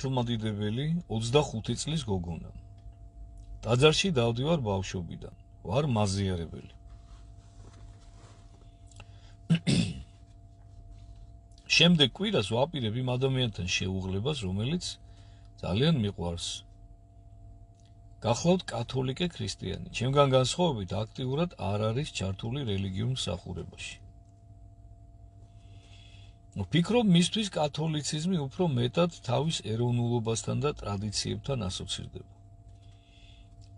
მართლმადიდებელი 25 წლის გოგონა. ტაძარში დავდივარ ბავშვობიდან. ვარ მაზიარებელი. შემდეგ კვირას ვაპირებ იმ ადამიანთან შეუღლებას, რომელიც ძალიან მიყვარს. გახლავთ კათოლიკე ქრისტიანი. ჩემგან განსხვავებით აქტიურად არ არის ჩართული რელიგიურ მსახურებაში. ვფიქრობ, მისთვის კათოლიციზმი უფრო მეტად თავის ეროვნულობასთან და ტრადიციებთან ასოცირდება.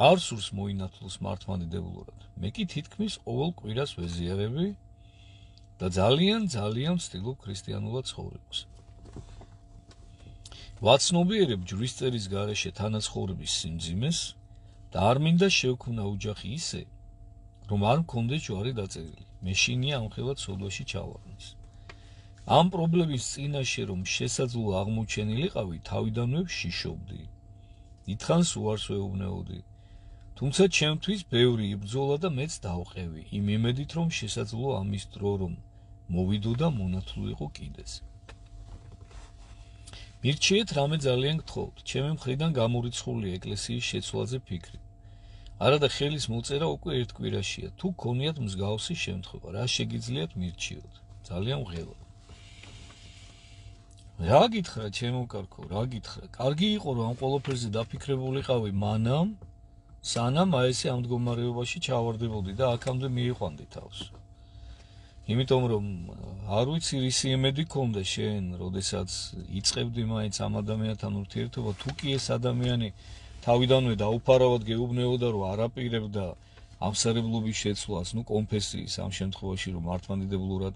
არ სურს მოინათლოს მართლმადიდებლურად. მე კი თითქმის ყოველ კვირას ვეზიარები და ძალიან ვცდილობ ქრისტიანულად ცხოვრებას. ვაცნობიერებ ჯვრისწერის გარეშე თანაცხოვრების სიმძიმეს და არ მინდა შევქმნა ოჯახი ისე, რომ არ მქონდეს ჯვარი დაწერილი. მეშინია ამხელად სოდვაში ჩავარდნის. ამ პრობლემის წინაშე რომ შესაძლო აღმოჩენილიყავი, თავიდანვე ვშიშობდი. დიდხანს უარს ვეუბნეოდი. თუმცა ჩემთვის ბევრი იბრძოლა და მეც დავყევი, იმ იმედით რომ შესაძლო ამის დრო რომ მოვიდო და მონათლულიყო კიდეც. მირჩიეთ რამე ძალიან გთხოვთ, ჩემი მხრიდან გამორიცხულია ეკლესიის შეცვლაზე ფიქრი. არადა ხელის მოწერა უკვე ერთ კვირაშია, თუ გქონიათ მსგავსი შემთხვევა, რა შეგიძლიათ მირჩიოთ. ძალიან ვღელავ. რა გითხრა ჩემო კარგო, რა გითხრა? კარგი იყო რომ ამ ყველაფერზე დაფიქრებულიყავი მანამ, სანამ ესე ამ მდგომარეობაში ჩავარდებოდი და აქამდე მიიყვანდი თავს. იმიტომ რომ არ ვიცი რისი იმედი გქონდა შენ, როდესაც იწყებდი მაინც ამ ადამიანთან ურთიერთობა, თუ კი ეს ადამიანი თავიდანვე დაუფარავად გეუბნეოდა რომ არაპირებდა ამსარებლობის შეცვლას, კონფესიის ამ შემთხვევაში რომ მართლმადიდებლურად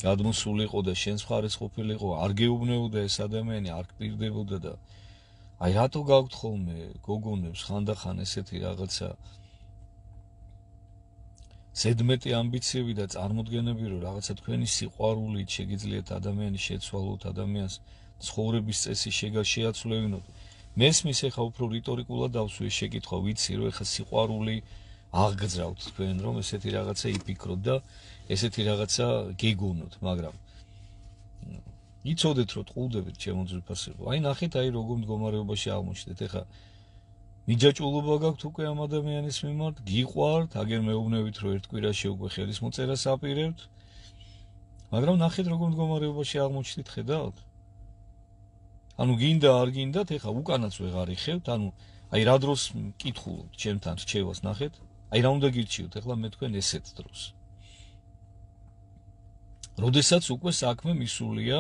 გადმოსულიყო და შენს მხარეს ყოფილიყო, არ გეუბნეოდა ეს ადამიანი, არ გპირდებოდა და აი რატო გაგვთ ხოლმე გოგონებს ხანდახან ესეთი რაღაცა ზედმეტი ამბიციები და წარმოდგენები, რომ რაღაცა თქვენი სიყვარულით შეგიძლიათ ადამიანის შეცვალოთ, ადამიანს ცხოვრების წესი შეაცვლევინოთ. მესმის ეხა უფრო რიტორიკულად დავსვი ეს შეკითხვა, ვიცი რომ ეხა სიყვარული აღგზავთ თქვენ, რომ ესეთი რაღაცა იფიქროთ და ესეთი რაღაცა გეგონოთ, მაგრამ იცოდეთ რომ ტყუილდებით ჩემო ძვირფასებო. აი ნახეთ, აი როგორ მდგომარეობაში აღმოჩნდეთ. ეხა მიჯაჭულობა გაქვთ უკვე ამ ადამიანის მიმართ, გიყვართ, აგერ მეუბნებით რომ ერთ კვირაში უკვე ხელის მოწერას აპირებთ, მაგრამ ნახეთ როგორ მდგომარეობაში აღმოჩნდით, ხედავთ? ანუ გინდა არ გინდათ, ეხა უკანაც ვეღარ იხევთ, ანუ აი რა დროს მკითხულობთ ჩემთან რჩევას, ნახეთ? აი რა უნდა გირჩიოთ ეხლა მე თქვენ ესეთ დროს. როდესაც უკვე საქმე მისულია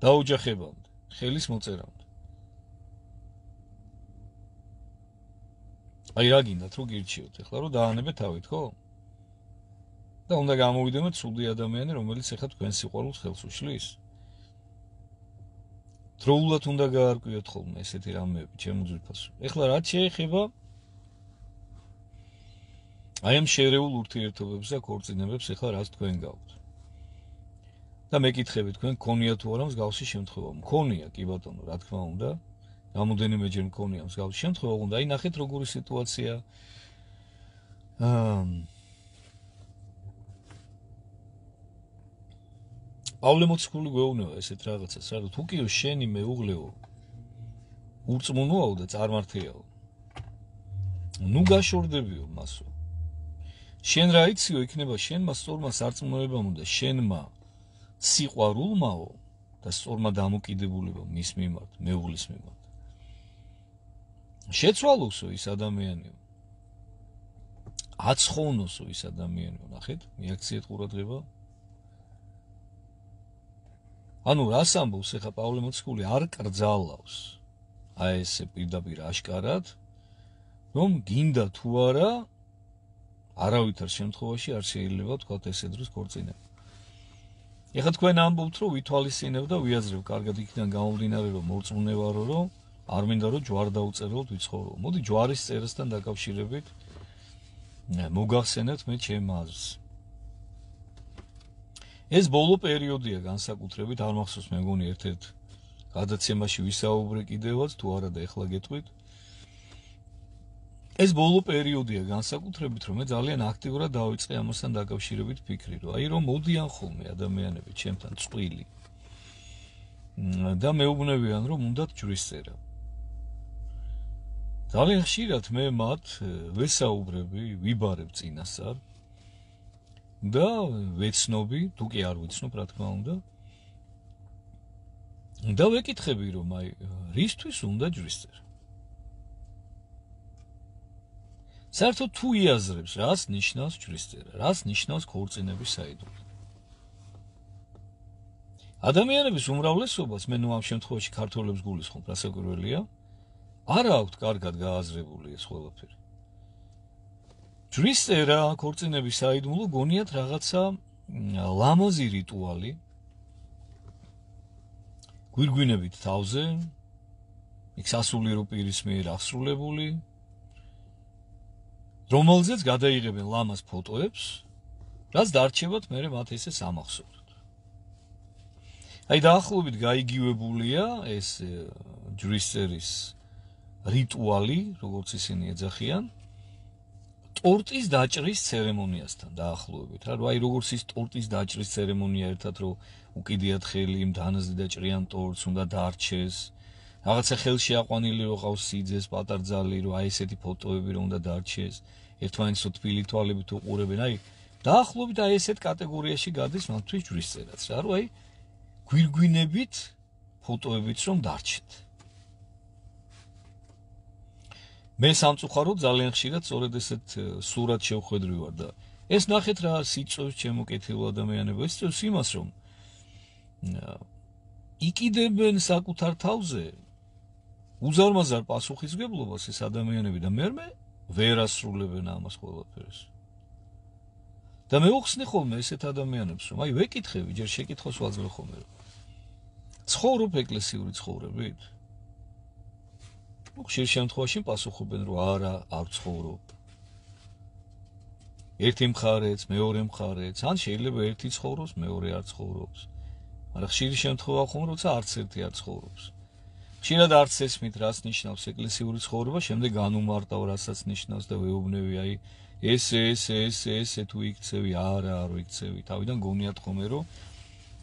დაოჯახებამდე, ხელის მოწერამდე. აი რა გინდათ რომ გირჩიოთ ეხლა რომ დაანებეთ თავით, ხო? და უნდა გამოვიდეთ ცუდი ადამიანი, რომელიც ეხლა თქვენ სიყვარულს ხელს უშლის. დროულად უნდა გაარკვიოთ ხოლმე ესეთი რამეები, ჩემო ძვირფასო. ეხლა რაც შეეხება აი ამ შერეულ ურთიერთობებს და ქორწინებებს, ეხლა რაც თქვენ გაქვთ. და მეკითხები თქვენ გქონია თუ არა მსგავსი შემთხვევა? მქონია, კი ბატონო, რა თქმა უნდა. რამოდენიმეჯერ მქონია მსგავსი შემთხვევა, უნდა აი ნახეთ როგორი სიტუაცია. პავლე მოციქული გვეუბნება ესეთ რაღაცას, რა თუ კი შენი მეუღლეო ურწმუნოაო და წარმართიაო. ნუ გაშორდებიო მასო. შენ რა იციო, იქნება შენმა სწორმა სარწმუნოებამ და შენმა სიყვარულმაო და სწორმა დამოკიდებულებამ მის მიმართ, მეუღლის მიმართ. შეცვალოსო ის ადამიანიო. აცხოვნოსო ის ადამიანიო, ნახეთ, მიაქციეთ ყურადღება. ანუ რას ამბობს ეხა პავლე მოციქული, არ კრძალავს აი ესე პირდაპირ აშკარად, რომ გინდა თუ არა არავითარ შემთხვევაში არ შეიძლება თქვათ ესე დროს ქორწინება. ეხა თქვენ ამბობთ რომ ვითვალისწინებ და ვიაზრებ კარგად იქიდან გამომდინარე რომ მორწმუნე ვარო, რომ არ მინდა რომ ჯვარ დაუწეროთ ვიცხოვრო. მოდი ჯვარის წერასთან დაკავშირებით მოგახსენებთ მე ჩემ აზრს. ეს ბოლო პერიოდია განსაკუთრებით, არ მახსოვს მე მგონი ერთ-ერთ გადაცემაში ვისაუბრე კიდევაც, თუ არა და ეხლა გეტყვით. ეს ბოლო პერიოდია განსაკუთრებით, რომ მე ძალიან აქტიურად დავიწყე ამასთან დაკავშირებით ფიქრი, რომ აი რომ მოდიან ხოლმე ადამიანები ჩემთან წყვილი. და მეუბნებიან, რომ უნდათ ჯვრის წერა. ძალიან ხშირად მე მათ ვესაუბრები, ვიბარებ წინასწარ და ვეცნობი, თუ კი არ ვიცნობ, რა თქმა უნდა. და ვეკითხები, რომ აი რისთვის უნდა ჯვრის წერა. საერთოდ თუ იაზრებს, რას ნიშნავს ჯვრის წერა, რას ნიშნავს ქორწინების საიდუმლო. ადამიანების უმრავლესობას, მე ამ შემთხვევაში ქართველებს გულისხმობ, რასაკვირველია, არ აქვთ კარგად გააზრებული ეს ყველაფერი. ჯვრის წერა, ქორწინების საიდუმლო გონიათ რაღაცა ლამაზი რიტუალი, გვირგვინებით თავზე, იქ სასულიერო პირის მიერ აღსრულებული, რომელზეც გადაიღებენ ლამაზ ფოტოებს, რაც დარჩებათ მერე მათ ესე სამახსოვროდ. აი დაახლოებით გაიგივებულია ეს ჯვრის წერის რიტუალი, როგორც ისინი ეძახიან, ტორტის დაჭრის ცერემონიასთან დაახლოებით. რა, აი როგორც ის ტორტის დაჭრის ცერემონია ერთად რომ უკიდიათ ხელი იმ დანაზე დაჭრიან ტორტს, უნდა დარჩეს. რაღაცა ხელში აყვანილი რო ყავს სიძეს, პატარძალი, რომ აი ესეთი ფოტოები რომ უნდა დარჩეს. ერთმანეთს თბილი თვალებით უყურებენ. აი დაახლოებით აი ესეთ კატეგორიაში გადის მათთვის ჯვრის წერაც, რა, რომ აი გვირგვინებით ფოტოებით რომ დარჩეთ. მე სამწუხაროდ ძალიან ხშირად სწორედ ესეთ სურათ შევხვედრი ვარ და ეს ნახეთ რა სიწევს ჩემო კეთილ ადამიანებო, ეს წევს იმას რომ იკიდებენ საკუთარ თავზე უზარმაზარ პასუხისმგებლობას ეს ადამიანები და მე ვერ ასრულებენ ამას ყველაფერს. და მე ვხსნი ხოლმე ესეთ ადამიანებს რომ აი ვეკითხები, ჯერ შეკითხოს ვაძლევ ხოლმე რომ ცხოვრობ ეკლესიური ცხოვრებით? ხშირ შემთხვევაში პასუხობენ რომ არა, არ ცხოვრობ. ერთი მხარეც, მეორე მხარეც, ან შეიძლება ერთი ცხოვრობს, მეორე არ ცხოვრობს. მაგრამ ხშირი შემთხვევა ხომ როცა არც ერთი არ ცხოვრობს. ხშირად არც ესმით რას ნიშნავს ეკლესიური ცხოვრება, შემდეგ განუმარტავ რასაც ნიშნავს და ვეუბნები აი ესე თუ იქცევი, არა, არ იქცევი. თავიდან გონიათ ხოლმე რომ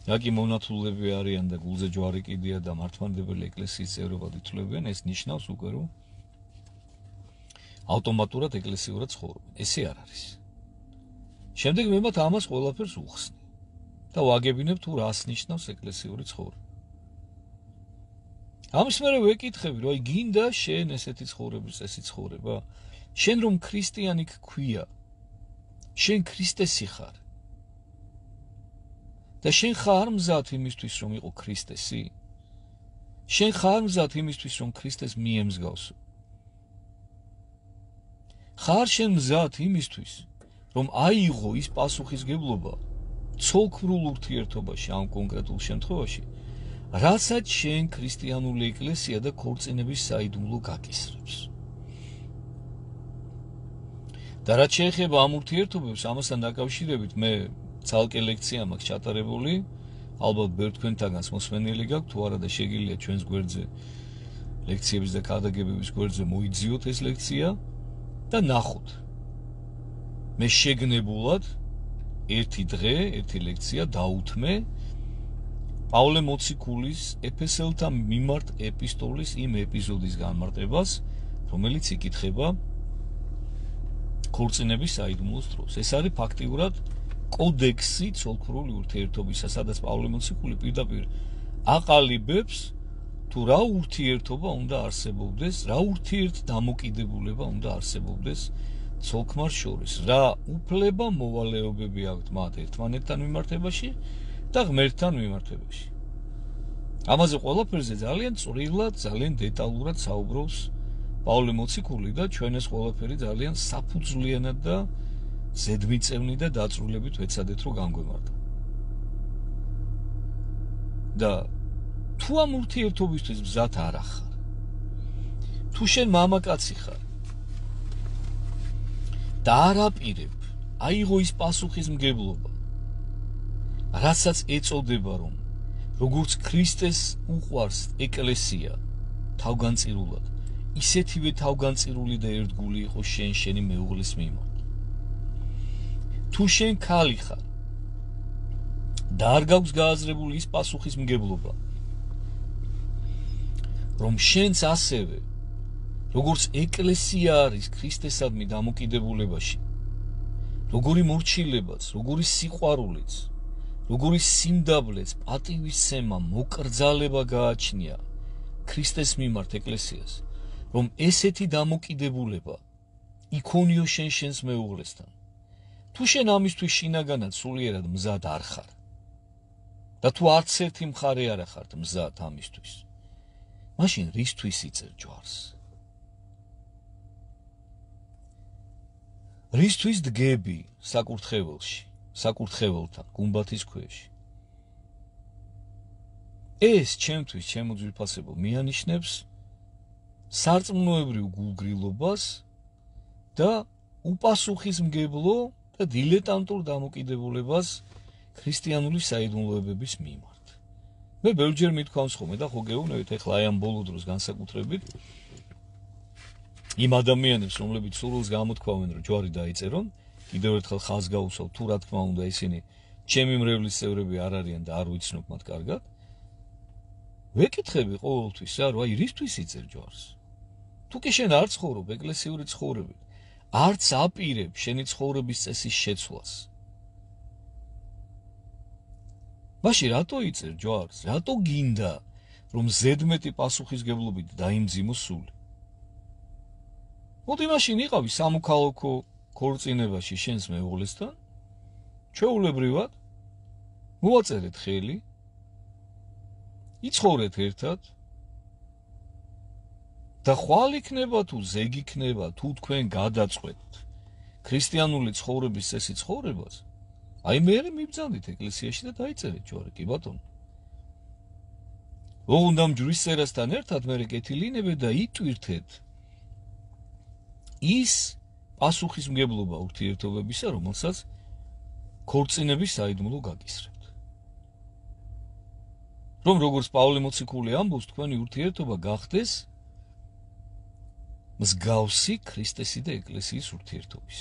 რაკი მონათულები არიან და გულზე ჯვარი კიდია და მართლმადიდებელი ეკლესიის წევრებად ითვლებიან, ეს ნიშნავს უკვე რომ ავტომატურად ეკლესიურად ცხოვრობენ. ესე არ არის. შემდეგ მე მათ ამას ყველაფერს უხსნი და ვაგებინებ თუ რას ნიშნავს ეკლესიური ცხოვრება. ამის მერე ვეკითხები, რომ აი გინდა შენ ესეთი ცხოვრების წესი ცხოვრება? შენ რომ ქრისტიანი გქვია, შენ ქრისტესი ხარ. და შენ ხარ მზად იმისთვის რომ იყო ქრისტესი? შენ ხარ მზად იმისთვის რომ ქრისტეს მიემსგავსო? ხარ შენ მზად იმისთვის რომ აიღო ის პასუხისმგებლობა ცოლქმრულ ურთიერთობაში ამ კონკრეტულ შემთხვევაში, რასაც შენ ქრისტიანული ეკლესია და ქორწინების საიდუმლო გაკისრებს. და რაც შეეხება ამ ურთიერთობებს, ამასთან დაკავშირებით მე ცალკე ლექცია მაქვს ჩატარებული, ალბათ ბევრ თქვენთაგანს მოსმენილი გაქვთ, თუ არა და შეგიძლია ჩვენს გვერდზე ლექციების და ქადაგებების გვერდზე მოიძიოთ ეს ლექცია და ნახოთ. მე შეგნებულად ერთი დღე, ერთი ლექცია დაუთმე პავლე მოციქულის ეფესელთა მიმართ ეპისტოლის იმ ეპიზოდის განმარტებას, რომელიც იკითხება ქორწინების საიდუმლოს დროს. ეს არის ფაქტიურად კოდექსი ცოლქმრული ურთიერთობისა, სადაც პავლე მოციქული პირდაპირ აყალიბებს თუ რა ურთიერთობა უნდა არსებობდეს, რა ურთიერთდამოკიდებულება უნდა არსებობდეს ცოლქმარ შორის, რა უფლება მოვალეობები აქვთ მათ ერთმანეთთან მიმართებაში და ღმერთთან მიმართებაში. ამაზე ყველაფერზე ძალიან წვრილად, ძალიან დეტალურად საუბრობს პავლე მოციქული და ჩვენ ეს ყველაფერი ძალიან საფუძვლიანად და ზედმიწევნი და დაწვრილებით ვეცადეთ რომ განგვემართა. და თუ ამ ურთიერთობისთვის მზად არ ახარ, თუ შენ მამაკაცი ხარ და არ აპირებ აიღო ის პასუხისმგებლობა, რასაც ეწოდება რომ როგორც ქრისტეს უყვარს ეკლესია თავგანწირულად, ისეთივე თავგანწირული და ერთგული იყო შენი მეუღლის მიმართ. თუ შენ ქალი ხარ და არ გაქვს გააზრებული ის პასუხისმგებლობა, რომ შენც ასევე როგორც ეკლესია არის ქრისტესადმი დამოკიდებულებაში, როგორი მორჩილებაც, როგორი სიყვარულიც, როგორი სიმდაბლეც, პატივისცემა, მოკრძალება გააჩნია ქრისტეს მიმართ ეკლესიას, რომ ესეთი დამოკიდებულება იქონიო შენს მეუღლესთან. თუ შენ ამისთვის შინაგანად სულიერად მზად არ ხარ და თუ არც ერთი მხარე არ ხართ მზად ამისთვის, მაშინ რისთვის იწერ ჯვარს? რისთვის დგები საკურთხეველში, საკურთხეველთან, გუმბათის ქვეშ? ეს ჩემთვის, ჩემო ძვირფასებო, მიანიშნებს სარწმუნოებრივ გულგრილობას და უპასუხისმგებლო და დილეტანტურ დამოკიდებულებას ქრისტიანული საიდუმლოებების მიმართ. მე ბევრჯერ მithქვამს ხოლმე და ხო გეუბნებით ეხლა აი ამ ბოლო დროს განსაკუთრებით იმ ადამიანებს, რომლებიც სურვილს გამოთქვამენ, რომ ჯვარი დაიწერონ, კიდევ ერთხელ ხაზს გაუსვავ, თუ რა თქმა უნდა ისინი ჩემი მრევლის წევრები არ არიან და არ ვიცნობ მათ კარგად. ვეკითხები ყოველთვის, რომ აი რისთვის იწერ ჯვარს? თუ კი შენ არ ცხოვრობ ეკლესიური ცხოვრებით, არც აპირებ შენი ცხოვრების წესის შეცვლას. მაშინ რატო იწერ ჯვარს? რატო გინდა რომ ზედმეტი პასუხისგებლობით დაიმძიმო სული? მოდი მაშინ იყავი სამოქალაქო ქორწინებაში შენს მეუღლესთან, ჩვეულებრივად მოვაწერეთ ხელი, იცხოვრეთ ერთად და ხვალ იქნება თუ ზეგ იქნება, თუ თქვენ გადაწყვეტთ ქრისტიანული ცხოვრების წესი ცხოვრებას, აი მერე მიბრძანდით ეკლესიაში და დაიწერეთ ჯვარი, კი ბატონო. ოღონდ ჯვრის წერასთან ერთად მერე კეთილინებე და იტვირთეთ ის პასუხისმგებლობა ურთიერთობებისა, რომელსაც ქორწინების საიდუმლო გაკისრებთ. რომ როგორც პავლე მოციქული ამბობს, თქვენი ურთიერთობა გახდეს მსგავსი ქრისტესი და ეკლესიის ურთიერთობის.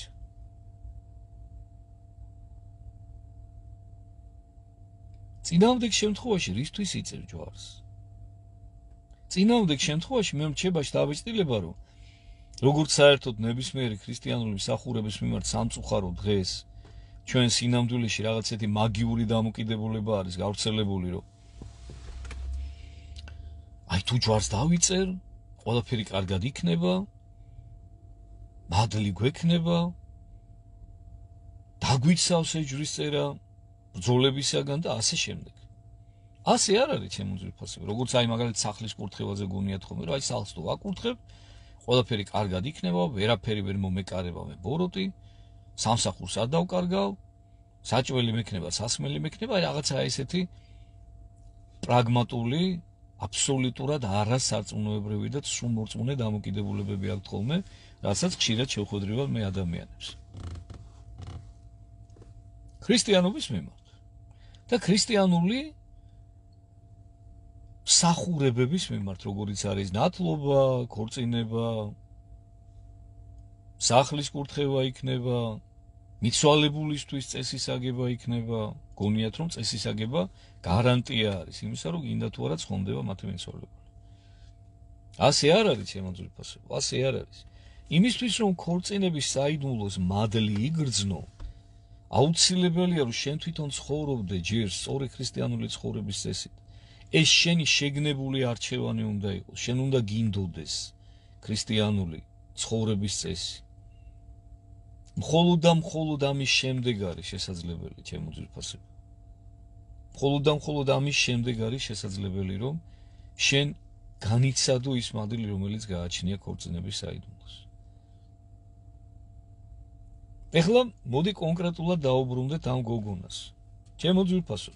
წინააღმდეგ შემთხვევაში რისთვის იწერ ჯვარს? წინააღმდეგ შემთხვევაში მე მრჩება შთაბეჭდილება, რომ როგორც საერთოდ ნებისმიერი ქრისტიანული მსახურების მიმართ სამწუხარო დღეს ჩვენ სინამდვილეში რაღაცეთი მაგიური დამოკიდებულება არის გავრცელებული, რომ აი თუ ჯვარს დავიწერ, ყველაფერი კარგად იქნება, მადლი გვექნება, დაგვიცავს ეს ჯვრის წერა ბრძოლებისაგან და ასე შემდეგ. ასე არ არის ჩემო ძვირფასებო, როგორც აი მაგალითად სახლის კურთხევაზე გონიათ ხოლმე, რომ აი სახლს თუ ვაკურთხებ, ყველაფერი კარგად იქნება, ვერაფერი ვერ მომეკარება მე ბოროტი, სამსახურს არ დავკარგავ, საჭველი მექნება, სასმელი მექნება, აი რაღაცა ესეთი პრაგმატული, აბსოლუტურად არასარწმუნოებრივი და სრულმორწმუნე დამოკიდებულებები აქვთ ხოლმე, რასაც ხშირად შევხვედრივად მე ადამიანებს. ქრისტიანობის მიმართ და ქრისტიანული მსახურებების მიმართ, როგორიც არის ნათლობა, ქორწინება, სახლის კურთხევა იქნება, მიცვალებულისთვის წესის აგება იქნება, გონიათ რომ წესის აგება გარანტია არის იმისა, რომ გინდა თუ არა ცხონდება მათი მიცვალებული. ასე არ არის ჩემო ძვირფასებო, ასე არ არის. იმისთვის რომ ქორწინების საიდუმლოს მადლი იგრძნო, აუცილებელია რომ შენ თვითონ ცხოვრობდე ჯერ სწორი ქრისტიანული ცხოვრების წესით. ეს შენი შეგნებული არჩევანი უნდა იყოს, შენ უნდა გინდოდეს ქრისტიანული ცხოვრების წესი. მხოლოდ და მხოლოდ ამის შემდეგ არის შესაძლებელი, ჩემო ძვირფასებო. მხოლოდ და მხოლოდ ამის შემდეგ არის შესაძლებელი, რომ შენ განიცადო ის მადლი, რომელიც გააჩნია ქორწინების საიდუმლოს. ეხლა მოდი კონკრეტულად დაუბრუნდეთ ამ გოგონას. ჩემო ძვირფასო,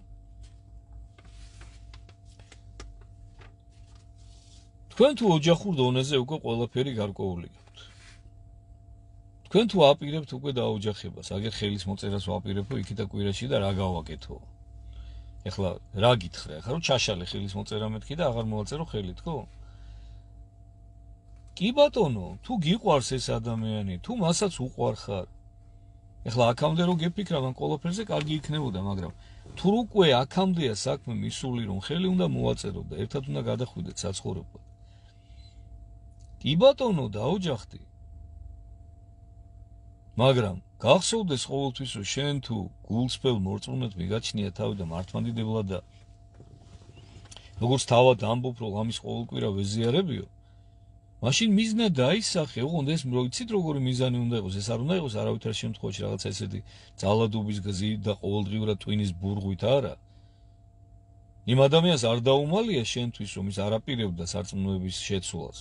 თქვენ თუ ოჯახურ დონეზე უკვე ყველაფერი გარკვეული გაქვთ. თქვენ თუ აპირებთ უკვე დაოჯახებას, აგერ ხელის მოწერას ვაპირებო იქითა კვირაში და რა გავაკეთო? ეხლა რა გითხრა? ეხლა რომ ჩაშალე ხელის მოწერა მეთქი და აღარ მოვაწერო ხელით, ხო? კი ბატონო, თუ გიყვარს ეს ადამიანი, თუ მასაც უყვარ ხარ, ეხლა აქამდე რომ გეფიქრა მან ყველაფერზე კარგი იქნებოდა, მაგრამ თუ უკვე აქამდეა საქმე მისული, რომ ხელი უნდა მოვაწერო და ერთად უნდა გადახვიდეთ საცხოვრებლად, კი ბატონო, დაოჯახდი. მაგრამ გახსოვდეს ყოველთვის, რომ შენ თუ გულწრფელ მორწმუნედ მიგაჩნია თავი და მართლმადიდებლად და როგორც თავად ამბობ, რომ ამის ყოველკვირა ვეზიარებიო, მაშინ მიზნა დაისახე, ოღონდ ეს მოიცით როგორი მიზანი უნდა იყოს, ეს არ უნდა იყოს არავითარ შემთხვევაში რაღაც ესეთი ძალადობის გზით და ყოველდღიურად ტვინის ბურღვით არა. იმ ადამიანს არ დაუმალია შენთვის, რომ ის არაპირებდა სარწმუნოების შეცვლას.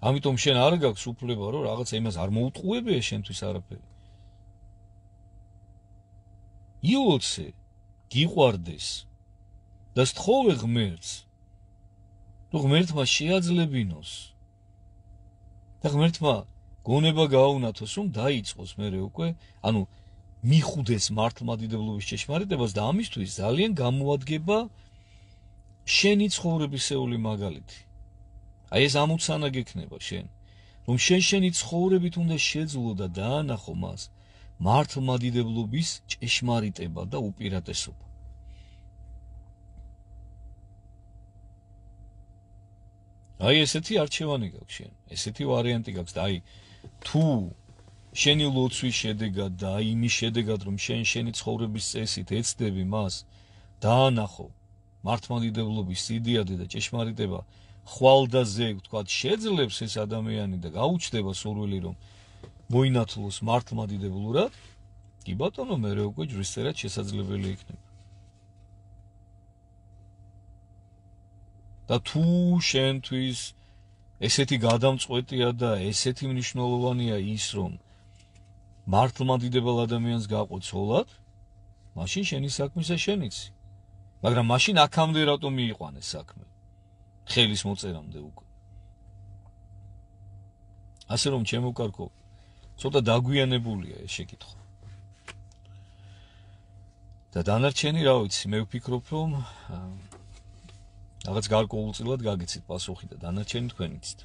ამიტომ შენ არ გაქვს უფლება, რომ რაღაცა იმას არ მოუტყუებია შენთვის არაფერი. იოცე, გიყვარდეს და სთხოვე ღმერთს, რომ ღმერთმა შეაძლებინოს და ღმერთმა გონება გააუნათოს, რომ დაიწყოს მერე უკვე, ანუ მიხუდეს მართლმადიდებლობის ჭეშმარიტებას და ამისთვის ძალიან გამოადგება შენი ცხოვრებისეული მაგალითი. აი ეს ამოცანა გექნება შენ, რომ შენი ცხოვრებით უნდა შეძლო და დაანახო მას მართლმადიდებლობის ჭეშმარიტება და უპირატესობა. აი ესეთი არჩევანი გაქვს შენ, ესეთი ვარიანტი გაქვს და აი თუ შენი ლოცვის შედეგად და აი იმის შედეგად, რომ შენი ცხოვრების წესით ეცდები მას დაანახო მართლმადიდებლობის სიდიადე და ჭეშმარიტება ხვალდაზე, ვთქვათ, შეძლებს ეს ადამიანი და გაუჩნდება სურვილი, რომ მოინათლოს მართლმადიდებლურად, კი ბატონო, მერე უკვე ჯვრისწერად შესაძლებელი იქნება. და თუ შენთვის ესეთი გადამწყვეტია და ესეთი მნიშვნელოვანია ის, რომ მართლმადიდებელ ადამიანს გაყო ცოლად, მაშინ შენი საქმისა შენიცი. მაგრამ მაშინ აქამდე რატომ მიიყვანეს საქმე? ხელის მოწერამდე უკვე. ასე რომ ჩემო კარგო, ცოტა დაგვიანებულია ეს შეკითხვა. და დანარჩენი რა ვიცი, მე ვფიქრობ, რომ რაღაც გარკვეულწილად გაგიცით პასუხი და დანარჩენი თქვენ იცით.